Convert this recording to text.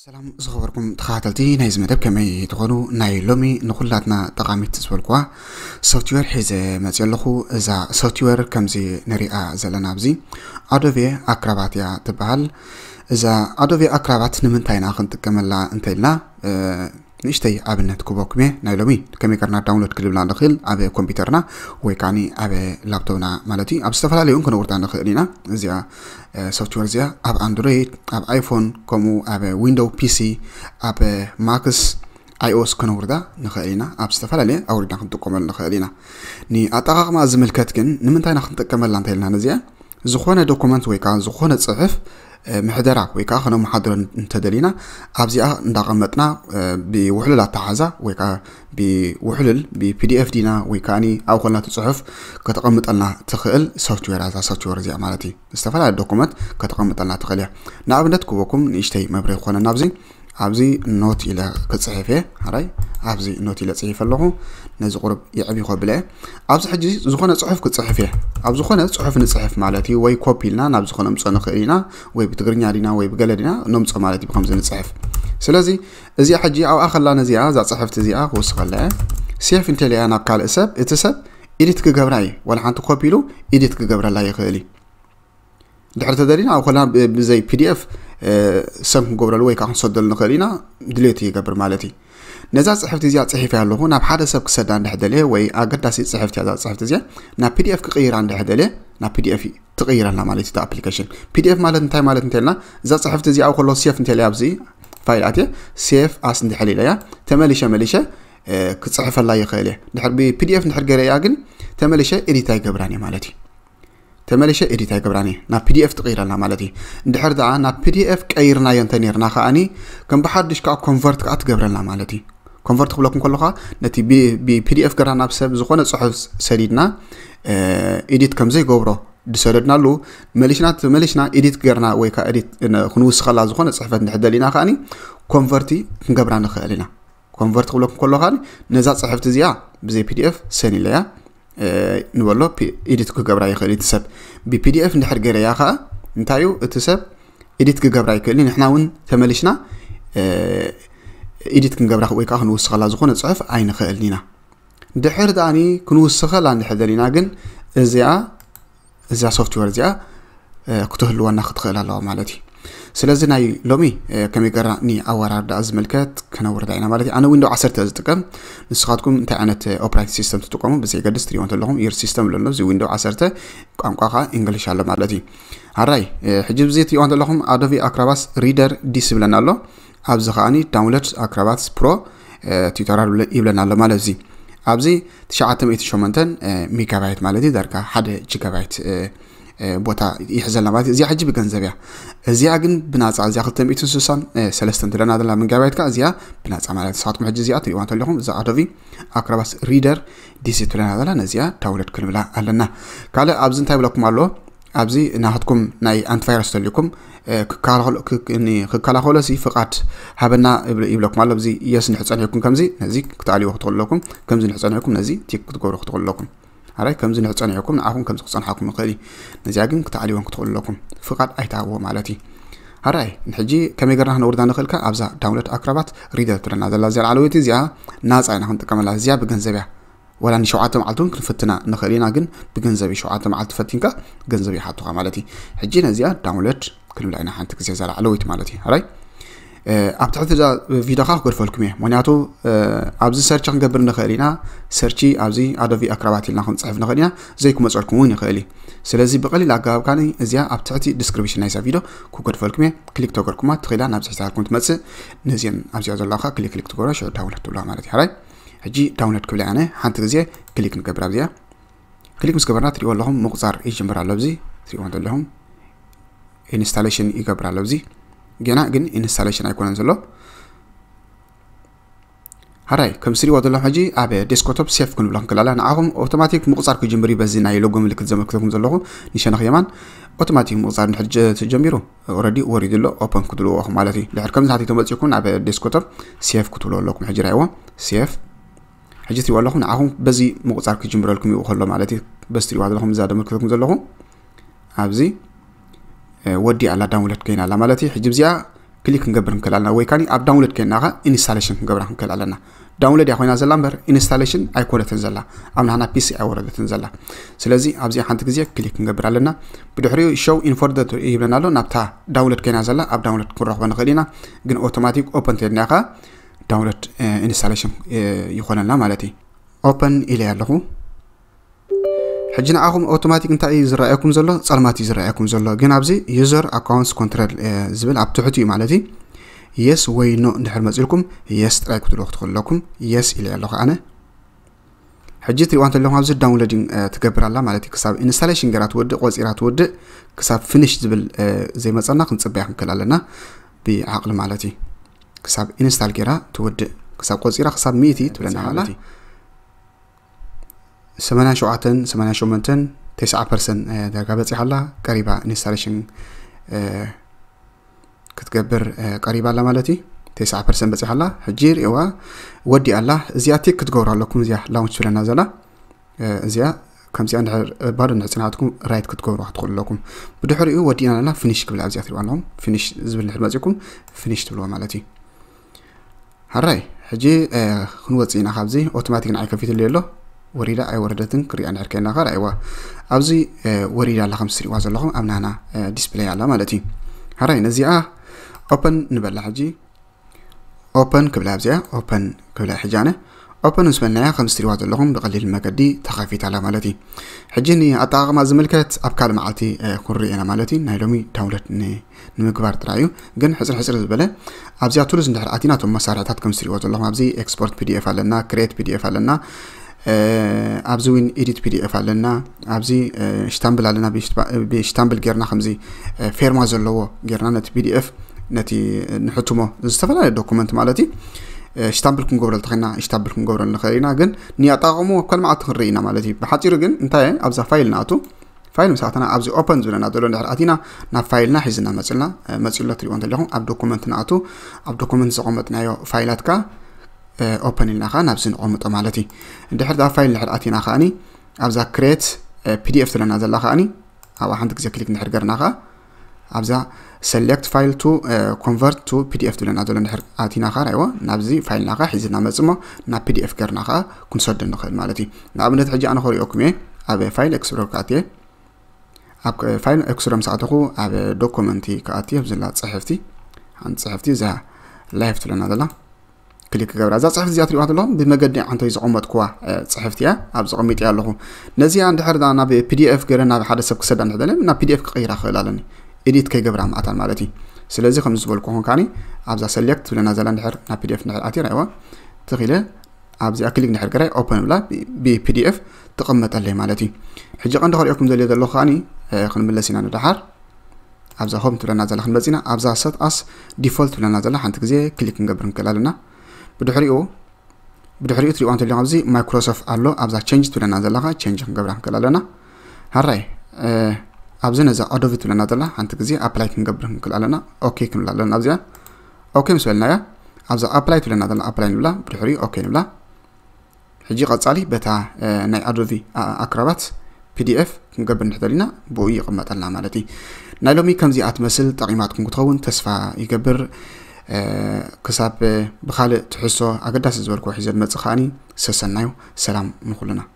ሰላም ዝኸበርኩም ተኸታተልቲ ናይዚ መደብ፣ ከመይ ትኾኑ? ናይ ሎሚ ንኹላትና ጠቓሚት ዝበልኩዋ ሶፍትዌር ሒዘ መፅእ ኣለኹ። እዛ ሶፍትዌር ከምዚ ንሪኣ ዘለና ኣብዚ ኣዶቤ ኣክራባት እያ ትበሃል። እዛ ኣዶቤ ኣክራባት ንምንታይ ኢና ክንጥቀመላ እንተኢልና ንእሽተይ ኣብነት ክበኩም እየ። ናይ ሎሚ ከመይ ገርና ዳውንሎድ ክልብላ ንኽእል ኣብ ኮምፒውተርና ወይ ከዓኒ ኣብ ላፕቶፕና ማለት እዩ። ኣብ ዝተፈላለዩ እውን ክነውርዳ ንኽእል ኢና። እዚኣ ሶፍትዌር እዚኣ ኣብ ኣንድሮይድ፣ ኣብ ኣይፎን፣ ከምኡ ኣብ ዊንዶው ፒሲ፣ ኣብ ማክስ፣ ኣይኦስ ክነውርዳ ንኽእል ኢና። ኣብ ዝተፈላለየ ኣውሪድና ክንጥቀመሉ ንኽእል ኢና። ንኣጠቓቕማ ዝምልከት ግን ንምንታይ ኢና ክንጥቀመላ እንተኢልና ነዚኣ ዝኾነ ዶኩመንት ወይ ከዓ ዝኾነ ፅሑፍ ምሕደራ ወይ ከዓ ከነመሓድሮ እንተደሊና ኣብዚኣ እንዳቐመጥና ብውሕሉል ኣተሓዛ ወይ ከዓ ብውሕሉል ብፒዲኤፍ ዲና ወይ ከዓ ኣብኡ ከለና እቲ ፅሑፍ ከተቐምጠልና ትኽእል ሶፍትዌር እያ። እዛ ሶፍትዌር እዚኣ ማለት እዩ ዝተፈላለየ ዶኩመንት ከተቐምጠልና ትኽእል እያ። ንኣብነት ክበኩም ንእሽተይ መብርሂ ክኾነና ኣብዚ ኣብዚ ኖት ኢለ ክፅሕፍ እየ። ሓራይ ኣብዚ ኖት ኢለ ፅሒፈ ኣለኹ። ነዚ ቁሩብ የዕቢ ከብለ እየ። ኣብዚ ሕጂ ዝኾነ ፅሑፍ ክፅሕፍ እየ። ኣብ ዝኾነ ፅሑፍ ንፅሕፍ ማለት እዩ። ወይ ኮፒ ኢልና ናብ ዝኾነ ምፅኦ ንኽእል ኢና፣ ወይ ብትግርኛ ዲና ወይ ብገለ ዲና ነምፅኦ ማለት እዩ ብከምዚ ንፅሕፍ። ስለዚ እዚኣ ሕጂ ኣብኣ ከላ ነዚኣ እዛ ፅሕፍቲ እዚኣ ክውስኸላ እየ። ሴፍ እንተለያ ናብ ካልእ ሰብ፣ እቲ ሰብ ኤዲት ክገብራ እዩ። ዋላ ሓንቲ ኮፒ ኢሉ ኤዲት ክገብረላ ይኽእል እዩ። ድሕሪ ተደሊና ኣብ ኮላ ብዘይ ፒዲኤፍ ሰም ክንገብረሉ ወይ ከዓ ክንሰደሉ ንኽእል ኢና። ድሌት ይገብር ማለት እዩ። ነዛ ፅሕፍቲ እዚኣ ፅሒፈ ኣለኹ ናብ ሓደ ሰብ ክሰዳ እንድሕር ደልየ ወይ ኣገዳሲ ፅሕፍቲ እያ እዛ ፅሕፍቲ እዚኣ ናብ ፒዲኤፍ ክቕይራ እንድሕር ደልየ ናብ ፒዲኤፍ ትቕይረልና ማለት እዩ። ኣፕሊኬሽን ፒዲኤፍ ማለት እንታይ ማለት እንተልና እዛ ፅሕፍቲ እዚኣ ኣብ ከሎ ሴፍ እንተልያ ኣብዚ ፋይል ኣትየ ሴፍ ኣስ እንድሕር ኢለያ ተመሊሸ መሊሸ ክፅሕፈላ ይኽእል እየ። ድሕር ብፒዲኤፍ እንድሕር ገይረያ ግን ተመሊሸ ኤዲት ኣይገብራን እየ ማለት እዩ። ተመሊሸ ኤዲት ኣይገብራን እየ። ናብ ፒዲኤፍ ትቕይረልና ማለት እዩ። እንድሕር ደኣ ናብ ፒዲኤፍ ቀይርናዮ እንተ ነርና ከዓኒ ከም ብሓድሽ ከዓ ኮንቨርት ከዓ ትገብረልና ማለት እዩ። ኮንቨርት ክብለኩም ከለኻ ነቲ ብፒዲኤፍ ገራ ናብ ሰብ ዝኾነ ፅሑፍ ሰዲድና ኤዲት ከም ዘይገብሮ ዝሰደድናሉ መሊሽና ተመሊሽና ኤዲት ገርና ወይ ከዓ ኤዲት ክንውስኸላ ዝኾነ ፅሕፈት እንድሕር ደሊና ከዓኒ ኮንቨርቲ ክንገብራ ንኽእል ኢና። ኮንቨርት ክብለኩም ከሎ ከዓኒ ነዛ ፅሕፍቲ እዚኣ ብዘይ ፒዲኤፍ ሰን ኢለያ ንበሎ ኤዲት ክገብራ ይኽእል እቲ ሰብ ብፒዲኤፍ እንድሕር ገይረያ ከዓ እንታይ እዩ እቲ ሰብ ኤዲት ክገብራ ይክእል ንሕና እውን ተመሊሽና ኤዲት ክንገብራ ወይ ከዓ ክንውስኸላ ዝኾነ ፅሑፍ ኣይንኽእልን ኢና። ድሕር ደኣኒ ክንውስኸላ እንድሕር ደሊና ግን እዚኣ እዛ ሶፍትዌር እዚኣ ክትህልወና ክትኽእል ኣለዋ ማለት እዩ። ስለዚ ናይ ሎሚ ከመይ ገርና ንኣወራርዳ ዝምልከት ከነውርዳ ኢና ማለት እዩ። ኣነ ዊንዶ ዓሰርተ ዝጥቀም፣ ንስኻትኩም እንታይ ዓይነት ኦፕሬቲንግ ሲስተም ትጥቀሙ ብዘይገድስ ትሪኦ እንተለኹም ዩር ሲስተም ኣለሎ። እዚ ዊንዶ ዓሰርተ ቋንቋ ከዓ እንግሊሽ ኣሎ ማለት እዩ። ኣራይ ሕጂ ብዚ ትሪኦ እንተለኹም ኣዶቢ ኣክራባስ ሪደር ዲስ ይብለና ኣሎ። ኣብዚ ከዓኒ ዳውንሎድ ኣክራባትስ ፕሮ ቲዩቶሪያል ይብለና ኣሎ ማለት እዚ ኣብዚ ትሽዓተ ሚእቲ ሸሞንተ ሜጋባይት ማለት እዩ ዳርጋ ሓደ ጂጋባይት ቦታ ይሕዘልና ማለት እዩ። እዚኣ ሕጂ ብገንዘብ እያ። እዚኣ ግን ብናፃ እዚኣ ክልተ ሚእትን ስሳን ሰለስተን ትለና ዘላ ሜጋባይት ከዓ እዚኣ ብናፃ ማለት ንስኻትኩም ሕጂ እዚኣ ትሪእዋ እንተለኹም እዛ ኣዶቢ ኣክራባስ ሪደር ዲስ ትለና ዘላ ነዚኣ ዳውንሎድ ክንብላ ኣለና። ካልእ ኣብዚ እንታይ ብለኩም ኣሎ ኣብዚ ናትኩም ናይ ኣንቲቫይረስ ተልኩም ክከላኸሎ ሲ ፍቓድ ሃበና ይብለኩም ኣሎ። እዚ የስ ንሕፀንሕኩም ከምዚ ነዚ ክትኣልዎ ክትኽእሉ ኣለኩም። ከምዚ ንሕፀንሕኩም ነዚ ቲክ ክትገብሩ ክትኽእሉ ኣለኩም። ኣራይ ከምዚ ንሕፀንሕኩም ንዓኹም ከምዚ ክፀንሓኩም ይኽእል እዩ። ነዚኣ ግን ክትኣልዎን ክትኽእሉ ኣለኩም። ፍቓድ ኣይትሃብዎ ማለት እዩ። ኣራይ ንሕጂ ከመይ ገርና ክነውርዳ ንኽእልካ ኣብዛ ዳውንሎድ ኣክራባት ሪደር ትብለና ዘላ እዚኣ ላዕለወይቲ እዚኣ ናፃ ኢና ክንጥቀመላ እዚኣ ብገንዘብ እያ። ወላ ንሸውዓተ መዓልቲ እውን ክንፍትና ንኽእል ኢና ግን ብገንዘብ እዩ ሸውዓተ መዓልቲ ፈቲንካ ገንዘብ ይሓቱኻ ማለት እዩ። ሕጂ ነዚኣ ዳውንሎድ ክንብላ ኢና ሓንቲ ግዜ እዛ ላዕለወይቲ ማለት እዩ። ኣራይ ኣብ ትሕቲ እዛ ቪዲዮኻ ክገድፈልኩም እየ ምክንያቱ ኣብዚ ሰርች ክንገብር ንኽእል ኢና። ሰርች ኣብዚ ኣዶቢ ኣክራባት ኢልና ክንፅሕፍ ንኽእል ኢና ዘይክመፀልኩም እውን ይኽእል እዩ። ስለዚ ብቐሊል ኣገባብ ካኒ እዚኣ ኣብ ትሕቲ ዲስክሪፕሽን ናይዛ ቪዲዮ ክገድፈልኩም እየ። ክሊክ ተገርኩማ ትኽእላ ናብ ዝሕታልኩም ትመፅእ ነዚአን ኣብዚኣ ዘለኻ ክሊክ ክሊክ ትገብሮ ሽዑ ዳውንሎድ ትብላ ማለት እዩ። ኣራይ ሕጂ ዳውንሎድ ክብል ኣነ ሓንቲ ግዜ ክሊክ ንገብር ኣብዚኣ ክሊክ ምስ ገበርና ትሪእዎ ኣለኹም ምቁፃር ይጅምር ኣሎ ኣብዚ ትሪእዎ ዘለኹም ኢንስታሌሽን ይገብር ኣሎ ኣብዚ ገና ግን ኢንስታሌሽን ኣይኮነን ዘሎ። ሃራይ ከም ስሪዎ ዘለኹም ሕጂ ኣብ ዴስክቶፕ ሴፍ ክንብሎ ክንክላላ ንዓኹም ኣውቶማቲክ ምቁፃር ክጅምር እዩ። በዚ ናይ ሎጎ ምልክት ዘመልክተኩም ዘለኹ ንሸነኽ የማን ኣውቶማቲክ ምቁፃር ንሕጂ ተጀሚሩ ኦረዲ ወሪዱ ኣሎ። ኦፐን ክትብልዎ ኢኹም ማለት እዩ። ድሕር ከምዚ ናተይ ተመፂእኩም ናብ ዴስክቶፕ ሴፍ ክትብልዎ ኣለኩም። ሕጂ ራይዎ ሴፍ ሕጂ ትሪእዎ ኣለኹም ንዓኹም በዚ ምቁፃር ክጅምረልኩም ይኡ ከሎ ማለት እዩ። በዚ ትሪእዋ ዘለኹም እዛ ደመልክተኩም ዘለኹ ኣብዚ ወዲ ኣላ ዳውንሎድ ኮይና ኣላ ማለት እዩ። ሕጂ እዚኣ ክሊክ ክንገብር ንክእል ኣለና፣ ወይ ካኒ ኣብ download ኮይና ኸ installation ክንገብራ ክንክእል ኣለና። Download እያ ኮይና ዘላ እምበር installation ኣይኮነትን ዘላ፣ ኣብ ናህና ፒሲ ኣይወረደትን ዘላ። ስለዚ ኣብዚ ሓንቲ ግዜ ክሊክ ክንገብር ኣለና። ብድሕሪኡ show in folder ይብለና ኣሎ። ናብታ download ኮይና ዘላ ኣብ download ክንረኽቦ ንኽእል ኢና፣ ግን automatic open ተድና ኸ download installation ይኾነልና ማለት እዩ። Open ኢለ ኣለኹ። ሕጂ ንዓኹም automatic እንታይ እዩ ዝረኣየኩም ዘሎ? ጸልማት እዩ ዝረኣየኩም ዘሎ። ግን ኣብዚ user accounts control ዝብል ኣብ ትሕቱ እዩ ማለት እዩ። Yes ወይ no እንድሕር መጺልኩም yes ጥራይ ክትብልዎ ክትኽእሉ ኣለኩም። Yes ኢለ ኣለኹ ኣነ። ሕጂ ትሪእዋ እንተለኹም ኣብዚ downloading ትገብር ኣላ ማለት እዩ። ክሳብ installation ገይራ ትውድእ፣ ቆጺራ ትውድእ፣ ክሳብ finish ዝብል ዘይመጸና ክንጽበያ ክንክእል ኣለና ብዓቕሊ ማለት እዩ። ክሳብ install ገይራ ትውድእ፣ ክሳብ ቆጺራ ክሳብ ሚእቲ ትብለና ኣላ። ሰማንያን ሸውዓተን ሰማንያን ሸሞንተን ተስዓ ፐርሰንት ዳርጋ በጺሓ ኣላ። ቀሪባ installation ክትገብር ቀሪባ ኣላ ማለት እዩ። ተስዓ ፐርሰንት በጺሓ ኣላ። ሕጂ ርእዋ ወዲኣ ኣላ። እዚኣ ቲክ ክትገብሩ ኣለኩም። እዚኣ launch ትብለና ዘላ እዚኣ ከምዚኣ እንድሕር ባዶ እንድሕር ጽናሕትኩም right ክትገብሩ ክትኽእሉ ኣለኩም። ብድሕሪኡ ወዲእና ኣለና finish ክብል ኣብዚኣ ትሪእዋ ኣለኹም። Finish ዝብል እንድሕር መጺእኩም finish ትብልዎ ማለት እዩ። ሕራይ ሕጂ ክንወጽእ ኢና ካብዚ። Automatic ንዓይ ከፊትሉ ኣሎ። ወሪዳ ኣይወረደትን ክሪኣ እንድሕር ከይና ኸ ራእይዋ ኣብዚ ወሪዳ ኣላ ከም ትሪእዋ ዘለኹም ኣብ ናና display ኣላ ማለት እዩ። ሕራይ ነዚኣ open ንበላ ሕጂ። Open ክብላ ኣብዚኣ open ክብላ ሕጂ ኣነ open ምስ በልናያ ከም ትሪእዋ ዘለኹም ብቐሊል መገዲ ተኸፊታ ኣላ ማለት እዩ። ሕጂ ንኣጠቓቕማ ዝምልከት ኣብ ካልእ መዓልቲ ክንርኢ ኢና ማለት እዩ። ናይ ሎሚ download ንምግባር ጥራይ እዩ። ግን ሕፅር ሕፅር ዝበለ ኣብዚኣ tools እንድሕር ኣቲና እቶም መሳርሕታት ከም ትሪእዎ ዘለኹም ኣብዚ export pdf ኣለና፣ create pdf ኣለና፣ ኣብዚ እውን edit pdf ኣለና፣ ኣብዚ ሽታምብል ኣለና። ብሽታምብል ጌርና ከምዚ ፌርማ ዘለዎ ጌርና ነቲ pdf ነቲ ንሕትሞ ዝተፈላለየ document ማለት እዩ። ሽታምብል ክንገብረሉ ተኸና ሽታምብል ክንገብረሉ ንኽእል ኢና። ግን ንኣጠቓቕሙ ኣብ ካልእ መዓልቲ ክንርኢ ኢና ማለት እዩ። ብሓፂሩ ግን እንታይ ኣብዛ ፋይል ንኣቱ ፋይል ምስ ኣተና ኣብዚ open ዝብለና ዘሎ እንድሕር ኣቲና ናብ ፋይልና ሒዝና መፅልና መፂሎ ትሪእዎ እንተለኹም ኣብ document ንኣቱ ኣብ document ዘቐመጥናዮ ፋይላት ከ open ኢልና ከ ናብዚ ንቐምጦ ማለት እዩ። እንድሕር ዳ ፋይል እንድሕር ኣቲና ከኣኒ ኣብዛ create pdf ትብለና ዘላ ከኣኒ ኣብኣ ሓንቲ ግዜ ክሊክ እንድሕር ገርና ከ ኣብዛ select file to convert to pdf ትብለና ዘሎ እንድሕር ኣቲና ከ ራይዎ ናብዚ ፋይልና ከ ሒዝና መፅሞ ናብ pdf ገርና ከ ክንሰዶ ንኽእል ማለት እዩ። ንኣብነት ሕጂ ኣነ ከሪኦኩም እየ ኣብ file explorer ከኣትየ ኣብ file explorer ምስ ኣተኹ ኣብ document ከኣትየ ኣብዘላ ፅሕፍቲ ሓንቲ ፅሕፍቲ እዛ live ትብለና ዘላ ክሊክ ክገብራ እዛ ፅሕፍቲ እዚኣ ትሪእዋ ዘለኹም ብመገዲ ዓንተይ ዘቐመጥኩዋ ፅሕፍቲ እያ። ኣብ ዘቐሚጥ እያ ኣለኹ። ነዚኣ እንድሕር ናብ pdf ገለ ናብ ሓደ ሰብ ክሰዳ እንድሕር ናብ pdf ክቕይራ ክኽእል ኣለኒ edit ከይገብራ ምኣታን ማለት እዩ። ስለዚ ከም ዝበልኩኹም ካኒ ኣብዛ select ትብለና ዘላ እንድሕር ናብ pdf እንድሕር ኣትየ ራይዋ ትኽኢለ ኣብዚኣ ክሊክ እንድሕር ገራይ open ብላ ብpdf ትቕመጠለይ ማለት እዩ። ሕጂ ቀንዲ ከሪኦኩም ዘልዮ ዘለኹ ካኒ ክንምለስ ኢና ንደሓር ኣብዛ home ትብለና ዘላ ክንመጽ ኢና። ኣብዛ set as default ትብለና ዘላ ሓንቲ ግዜ ክሊክ ክንገብር ንክእል ኣለና። ብድሕሪኡ ብድሕሪኡ ትሪእዋ እንተሊኹም ኣብዚ Microsoft ኣሎ። ኣብዛ change ትብለና ዘላ ከዓ change ክንገብራ ንክእል ኣለና። ሃራይ ኣብዚ ነዛ Adobe ትብለና ዘላ ሓንቲ ግዜ apply ክንገብር ንክእል ኣለና። ኦኬ ክንብል ኣለና። ኣብዚኣ ኦኬ ምስ በልናያ ኣብዛ apply ትብለና ዘላ apply ንብላ። ብድሕሪኡ ኦኬ ንብላ። ሕጂ ቀጻሊ በታ ናይ Adobe Acrobat pdf ክንገብር እንድሕተል ኢና ብኡ ይቕመጠልና ማለት እዩ። ናይ ሎሚ ከምዚኣ ትመስል ጠቒማትኩም ክትኸውን ተስፋ ይገብር። ክሳብ ብኻልእ ትሕዝቶ ኣገዳሲ ዝበልክዎ ሒዘ ዝመጽእ ከኣኒ ሰሰናዩ ሰላም ንኹልና።